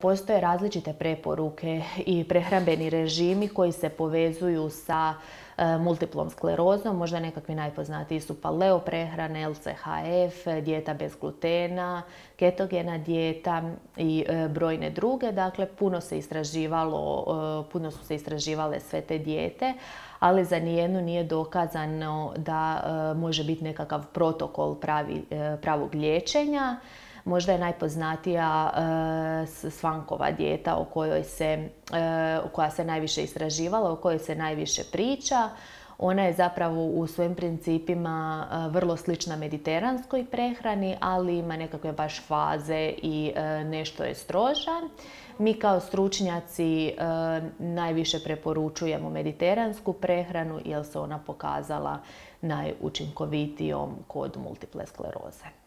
Postoje različite preporuke i prehrambeni režimi koji se povezuju sa multiplom sklerozom. Možda nekakvi najpoznatiji su paleo prehrane, LCHF, dijeta bez glutena, ketogena dijeta i brojne druge. Dakle, puno su se istraživale sve te dijete, ali za nijednu nije dokazano da može biti nekakav protokol pravog liječenja. Možda je najpoznatija Svankova dijeta koja se najviše istraživala, o kojoj se najviše priča. Ona je zapravo u svojim principima vrlo slična mediteranskoj prehrani, ali ima nekakve baš faze i nešto je stroža. Mi kao stručnjaci najviše preporučujemo mediteransku prehranu jer se ona pokazala najučinkovitijom kod multiple skleroze.